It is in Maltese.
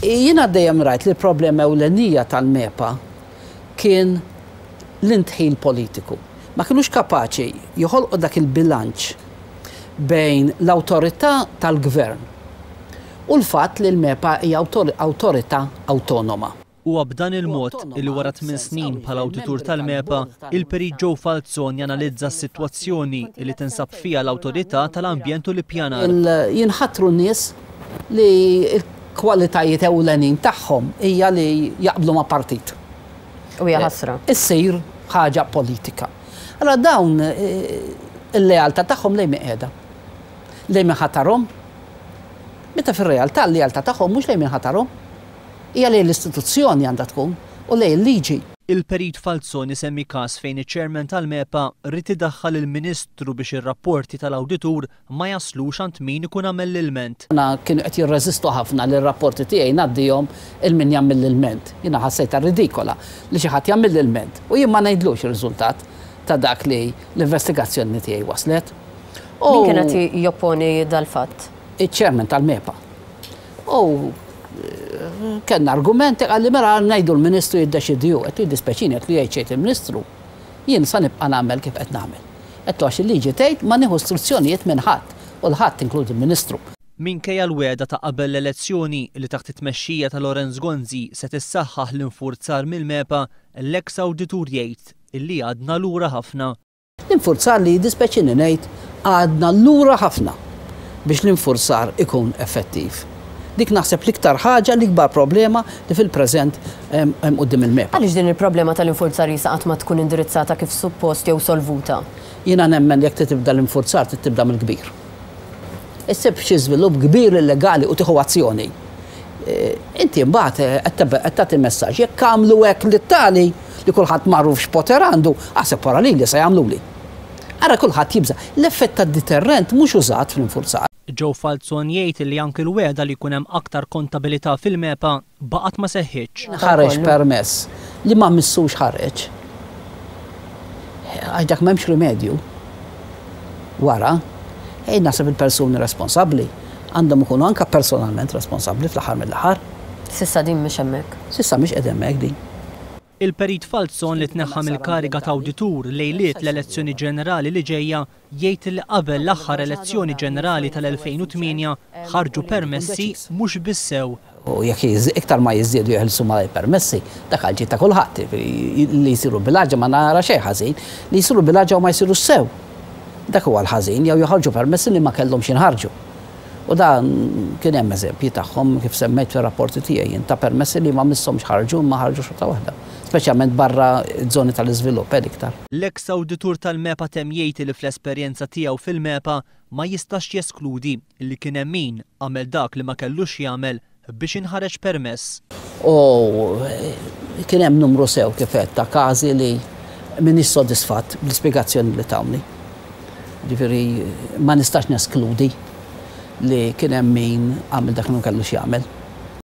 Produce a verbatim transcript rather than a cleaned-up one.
Jiena dejjem rajt li l-problema ewlenija tal-MEPA kien l-indħil politiku. Ma kienux kapaċi joħolqu dak il-bilanċ bejn l-awtorità tal-gvern u l-fatt li l-MEPA hija awtorità awtonoma. Huwa b'dan il-mod li wara tmien snin bħala awditur tal-MEPA, il-Perit Joe Falzon janalizza s-sitwazzjoni li tinsab fiha l-Awtorità tal-Ambjent u l-Ippjanar. Jinħatru nies li l-kwalitajiet ewlenin tagħhom hija li jaqblu ma' partit. U hija ħasra. Issir ħaġa politika. Allora dawn il-lealtà tagħhom lejn min qiegħda. Lejn min ħatarhom. Meta fir-realtà l-lealtà tagħhom mhux lejn min ħatarhom. Hija lejn l-istituzzjoni għandha tkun u lejn il-liġi. Il-Perit Falzon isemmi każ fejn iċ-chairman tal-MEPA ried idaħħal il-Ministru biex ir-rapporti tal-awditur ma jaslux għand min ikun għamel l-ilment. Jiena kienu qed jirreżistu ħafna li r-rapporti tiegħi ngħaddihom lil min jagħmel l-ilment. Jiena ħassejtha ridikola li xi ħadd jagħmel l-ilment u jien ma ngħidlux ir-riżultat ta' dak li l-investigazzjoni tiegħi waslet. Min kien qed jopponi dal-fatt? Iċ-chairman tal-MEPA. U kellna argumenti, qalli mela ngħidu l-Ministru jiddeċidi hu, qed jiddispjaċini, qed li jgħid il-Ministru. Jien sa nibqa' nagħmel kif qed nagħmel. Qed għax il-liġi tgħid ma nieħu istruzzjonijiet minn ħadd u l-ħadd inkludi l-Ministru. Minkejja l-wegħda ta' qabel l-elezzjoni li taħt it-tmexxija ta' Lawrence Gonzi se tissaħħaħ l-infurzar mill-MEPA, l-eks awditur jgħid illi għadna lura ħafna. L-infurzar li jiddispjaċini ngħid għadna lura ħafna biex l-infurzar ikun effettiv. Dik naħseb l-iktar ħaġa, l-ikbar problema li fil-preżent hemm quddiem il-MEPA. Għaliex din il-problema tal-infurzar jisa qatt ma tkun indirizzata kif suppost jew solvuta? Jiena nemmen jekk tibda l-infurzar tibda mill-kbir. Issib xi żvilupp kbir illegali u tieħu azzjoni. Inti mbagħad qed tagħti messaġġ jekk għamlu hekk lit-tali li kulħadd magħruf x'poter għandu, aħseb wara lili se jagħmluli. Ara kulħadd jibża. L-effett tad-deterrent mhux użat fl-infurzar. Joe Falzon jgħid li anke l-wegħda li jkun hemm aktar kontabilità fil-MEPA baqgħet ma seħħitx. Ħareġ permess li ma missux ħareġ. Għax dak m'hemmx rimedju. Wara, ej naħseb il-persuni responsabbli għandhom ikunu anke personalment responsabbli fl-aħħar mill-aħħar. S'issa din mhix hemmhekk. S'issa mhix qed hemmhekk din. Il-Perit Falzon li tneħħa mill-kariga ta' awditur lejliet l-elezzjoni ġenerali li ġejja jgħid li qabel l-aħħar elezzjoni ġenerali tal-elfejn u tmienja ħarġu permessi mhux bissew. U jekk iktar ma jiżdiedu jeħilsu mal permessi, dak għal ġid ta' kulħadd, li jsiru bil-ħaġa ma nara xejn ħażin, li jsiru bil-ħaġa u ma jsiru sew. Dak huwa l-ħażin, jew joħorġu permessi li ma kellhomx jinħarġu. U dan kien hemm eżempji tagħhom kif semmejt fir-rapporti tiegħi jien ta' permessi li ma misshomx ħarġu ma ħarġu xorta waħda, speċjalment barra żoni tal-iżvilupp iktar. L-eks awditur tal-MEPA temm jgħid li fl-esperjenza tiegħu fil-MEPA ma jistax jeskludi li kien hemm min għamel dak li ma kellux jagħmel biex inħareġ permess. U kien hemm numru sew kif qed ta' każi li m'iniex sodisfatt bl-ispjegazzjoni li tawni. Ġifieri ma nistax neskludi li kien hemm min għamel dak li ma kellux jagħmel.